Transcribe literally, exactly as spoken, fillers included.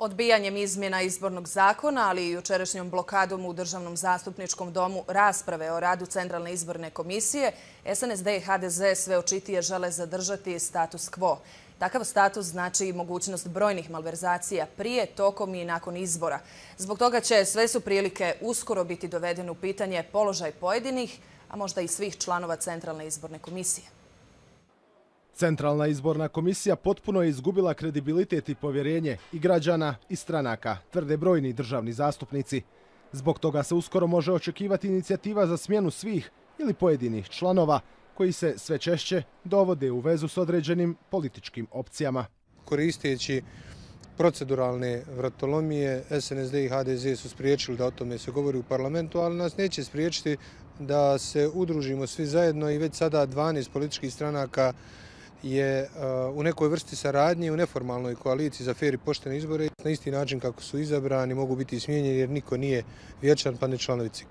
Odbijanjem izmjena izbornog zakona, ali i jučerašnjom blokadom u Državnom zastupničkom domu rasprave o radu Centralne izborne komisije, S N S D i H D Z sve očitije žele zadržati status quo. Takav status znači i mogućnost brojnih malverzacija prije, tokom i nakon izbora. Zbog toga će sve su prilike uskoro biti dovedene u pitanje položaj pojedinih, a možda i svih članova Centralne izborne komisije. Centralna izborna komisija potpuno je izgubila kredibilitet i povjerenje i građana i stranaka, tvrde brojni državni zastupnici. Zbog toga se uskoro može očekivati inicijativa za smjenu svih ili pojedinih članova koji se sve češće dovode u vezu s određenim političkim opcijama. Koristeći proceduralne vratolomije, S N S D i H D Z su spriječili da o tome se govori u parlamentu, ali nas neće spriječiti da se udružimo svi zajedno i već sada dvanaest političkih stranaka je u nekoj vrsti saradnje u neformalnoj koaliciji za fer i poštene izbore. Na isti način kako su izabrani mogu biti smijenjeni jer niko nije vječan pa ne članovi C I K.